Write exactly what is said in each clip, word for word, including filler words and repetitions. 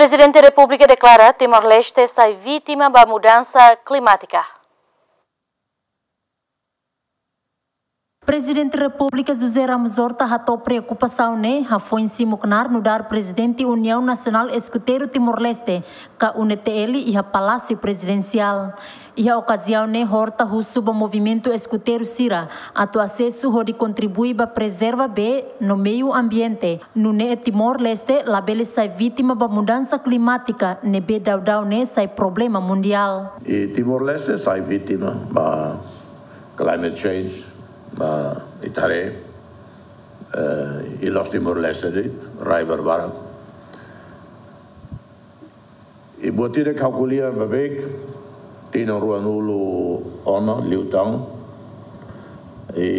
Prezidente Repúblika deklara Timor-Leste sai vítima ba mudansa klimátika. Prezidente Repúblika José Ramos Horta hato'o preokupasaun ne'e hafoin simu knaar nu'udar Prezidente Uniaun Nasionál Eskuteiru Timor-Leste, ka U N T L, iha Palásiu Prezidensiál. Iha okaziaun ne'e Horta husu ba movimentu eskuteiru sira atu asesu hodi kontribui ba prezerva bee no meiu ambiente, nune'e Timor-Leste labele sai vítima ba mudansa klimátika ne'ebé daudaun ne'e sai problema mundiál. I Timor-Leste sai vítima ba climate change, ba ita haree, eh, i la'ós Timor-Leste de'it, rai barbarak. I buat ida ke ha'u ko'alia ba beik, tinan ruanulu ona liután, i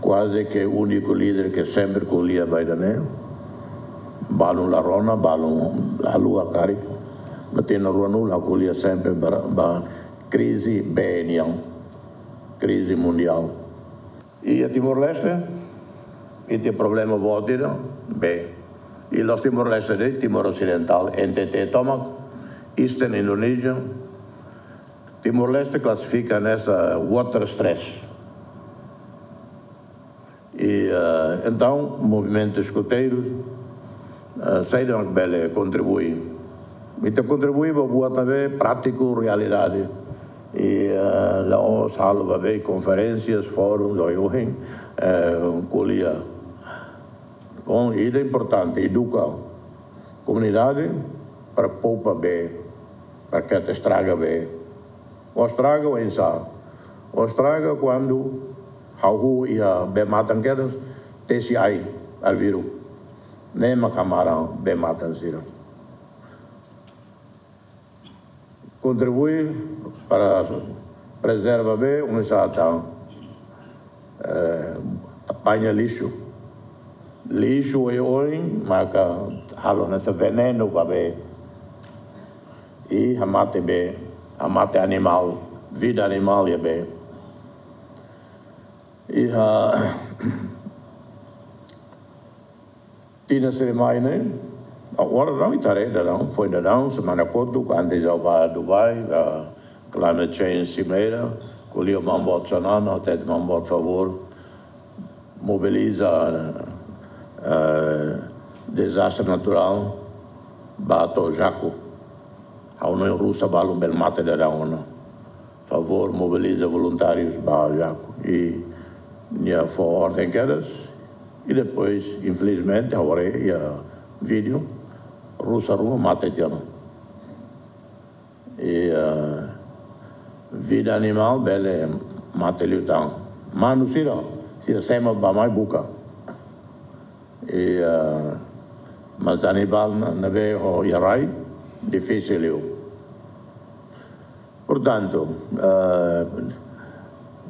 kuaze ke úniku líder ke sempre ko'alia ba ida-ne'e, balun la rona, balun la haluha karik, mas tinan ruanulu ha'u ko'alia sempre ba, ba krize bee nian, krize mundiál. Iha Timor-Leste, ita iha problema boot ida, bee. I la'ós Timor-Leste de'it, Timor Osidentál, N T T tomak, Eastern Indonesia, Timor-Leste klasifika hanesan water stress. I, eh, entaun, movimentu eskuteiru, eh, saida mak bele kontribui. Ita kontribui ba buat ne'ebé prátiku, realidade. I, eh, la'ós halo ba bee konferénsias, fórum, oioin, eh, ko'alia. Bom, ida importante, eduka komunidade para poupa bee, para ke atu estraga bee. Ó estraga oinsá? Ó estraga kuandu hahú iha bee-matan kedas, tesi ai, arbiru. Ne'e mak hamaran bee-matan sira. Kontribui para prezerva bee, oinsá atu, eh, apaña lixu. Lixu oioin maka halo hanesan venenu ba bee. I hamate bee, hamate animál, vida animál iha bee. Iha tinan sira mai ne'e, agora daudaun ita haree daudaun, foin daudaun, semana kotuk, antes ha'u bá Dubai, ba climate change cimeira, ko'alia ho Maun Boot Xanana, hatete Maun Boot favór, mobiliza, eh, dezastre naturál, bá to'o Jaco. Ha'u hanoin rusa balun bele mate daudaun ona. Favór mobiliza voluntárius ba Jaco. I nia fó orden kedas. I depois, infelizmente, agora iha vídeo, rusa ruma mate tiha ona. I, eh, vida animál bele mate liután. Manu sira, sira semo bá mai buka. I, eh, mas animál na, ne'ebé ho iha rai, difisil liu. Portantu, eh,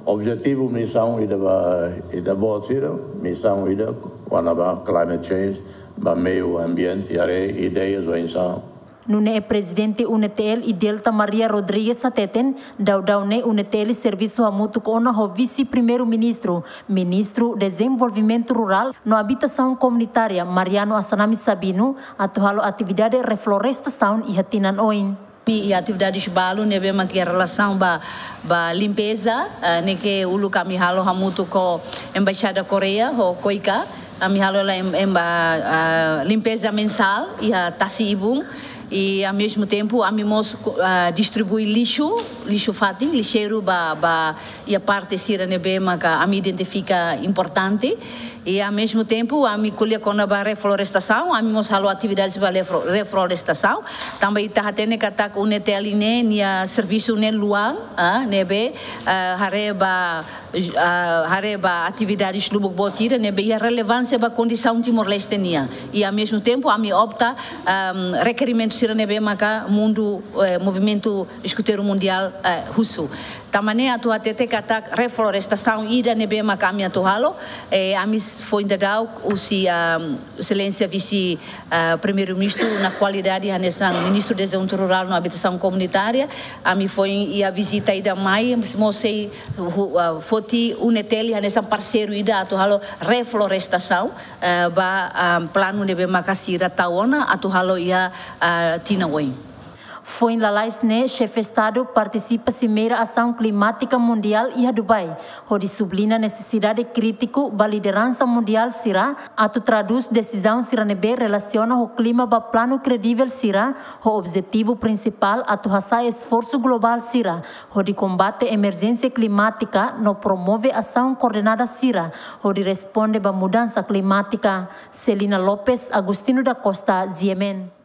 objetivu misaun ida ba, ida boot sira, misaun ida, kona-ba climate change, ba meiu ambiente, haree ideias oinsá. Nune'e Prezidente U N T L, Idelta Maria Rodrigues hateten, daudaun ne'e U N T L servisu hamutuk ona ho Vise-Primeiru-Ministru, Ministru Dezenvolvimentu Rurál no Abitasaun Komunitária, Mariano Assanami Sabino, atu halo atividade reflorestasaun iha tinan oin. Ami iha atividades balu ne'ebé mak iha relasaun ba, ba limpeza, eh, ne'e ke uluk ami halo hamutuk ho Embaixada Koreia, ho KOICA, ami halo hela em-, em-, ba, ah, limpeza mensál iha tasi-ibun, i ao mesmo tempo ami mós, ah, distribui lixu, lixu fatin, lixeiru ba, ba iha parte sira ne'ebé maka ami identifika importante. I ao mesmo tempo ami ko'alia kona-ba reflorestasaun, ami mós halo atividades ba reflo-, reflorestasaun. Tanba ita hatene katak U N T L ne'e nia servisu ne'e luan, ah, ne'ebé, ah, haree ba, ah, haree ba atividades lubuk boot ida ne'ebé iha relevánsia ba kondisaun Timor-Leste nian. I ao mesmo tempo ami opta, ah, rekerimentu sira ne'ebé maka mundu, eh, movimentu eskuteiru mundiál, eh, husu. Tanba ne'e atu hatete katak reflorestasaun ida ne'ebé maka ami atu halo, eh, ami s-, foin daudauk husi, ah, Exelénsia Vise, ah, Primeiru-Ministru na kualidade hanesan Ministru Dezenvolvimentu Rurál no Abitasaun Komunitária, ami foin iha vizita ida mai, mós sei hu-, ah, Oti UNETL hanesan parseiru ida atu halo reflorestasaun, eh, ba, ah, planu ne'ebé maka sira tau ona atu halo iha, ah, tinan oin. Foin lalais ne'e, Xefe Estadu partisipa Simeira Asaun Klimátika Mundiál iha Dubai, hodi subliña nesesidade krítiku ba lideransa mundiál sira atu tradús desizaun sira ne'ebé relasiona ho klima ba planu kredivel sira, ho objetivu prinsipál atu hasa'e esforsu globál sira hodi kombate emerjénsia klimátika no promove asaun koordenada sira hodi responde ba mudansa klimátika. Celina Lopes, Agostinho da Costa, G M N.